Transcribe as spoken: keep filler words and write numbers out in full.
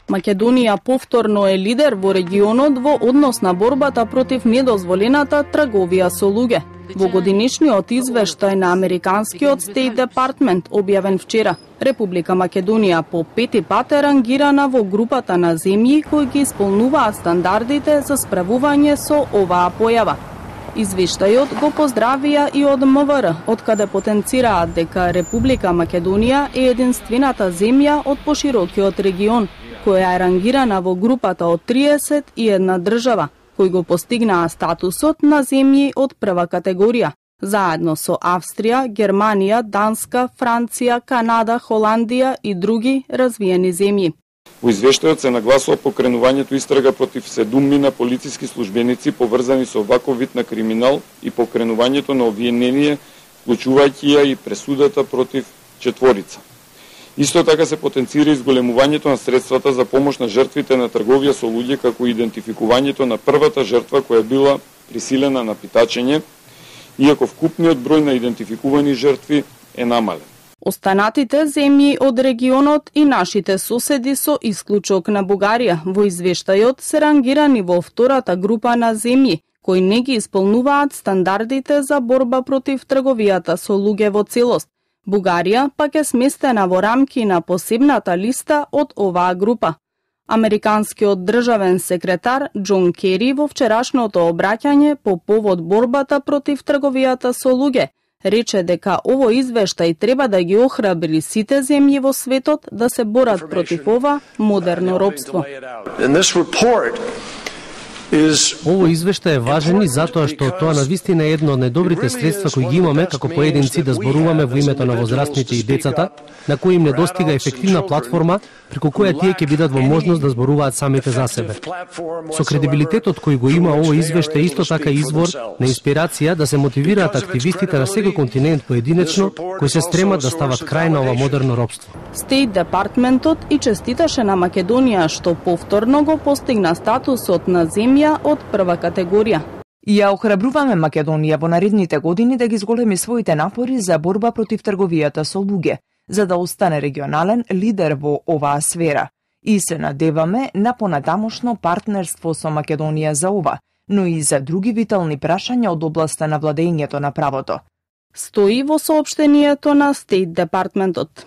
Македонија повторно е лидер во регионот во однос на борбата против недозволената трговија со луѓе. Во годинишниот извештај на Американскиот State Department, објавен вчера, Република Македонија по пети пат е рангирана во групата на земји кои ги исполнуваат стандардите за справување со оваа појава. Извештајот го поздравија и од М В Р, од каде потенцираат дека Република Македонија е единствената земја од поширокиот регион, која е рангирана во групата од триесет и една држава, кои го постигнаа статусот на земји од прва категорија, заедно со Австрија, Германија, Данска, Франција, Канада, Холандија и други развиени земји. Во извештајот се нагласува покренувањето истрага против седумина полициски службеници поврзани со ваков вид на криминал и покренувањето на обвинение, вклучувајќи ја и пресудата против четворица. Исто така се потенцира изголемувањето на средствата за помош на жртвите на трговија со луѓе, како и идентификувањето на првата жртва која била присилена на питачење, иако вкупниот број на идентификувани жртви е намален. Останатите земји од регионот и нашите соседи со исклучок на Бугарија во извештајот се рангирани во втората група на земји кои не ги исполнуваат стандардите за борба против трговијата со луѓе во целост. Бугарија пак е сместена во рамки на посебната листа од оваа група. Американскиот државен секретар Џон Кери во вчерашното обраќање по повод борбата против трговијата со луѓе рече дека овој извештај треба да ги охрабри сите земји во светот да се борат против ова модерно робство. Овој извештај е важен и затоа што тоа навистина е едно од најдобрите средства кои ги имаме како поединци да зборуваме во името на возрастните и децата, на кои им недостига ефективна платформа преку која тие ќе бидат во можност да зборуваат самите за себе. Со кредибилитетот кој го има овој извештај исто така извор на инспирација да се мотивираат активистите на секој континент поединечно кои се стремат да стават крај на ова модерно робство. Стейт Департментот и честиташе на Македонија што повторно го постигна статусот на земја од прва категорија. Ја охрабруваме Македонија во наредните години да ги зголеми своите напори за борба против трговијата со луѓе, за да остане регионален лидер во оваа сфера. И се надеваме на понатамошно партнерство со Македонија за ова, но и за други витални прашања од областа на владењето на правото. Стои во соопштението на Стейт Департментот.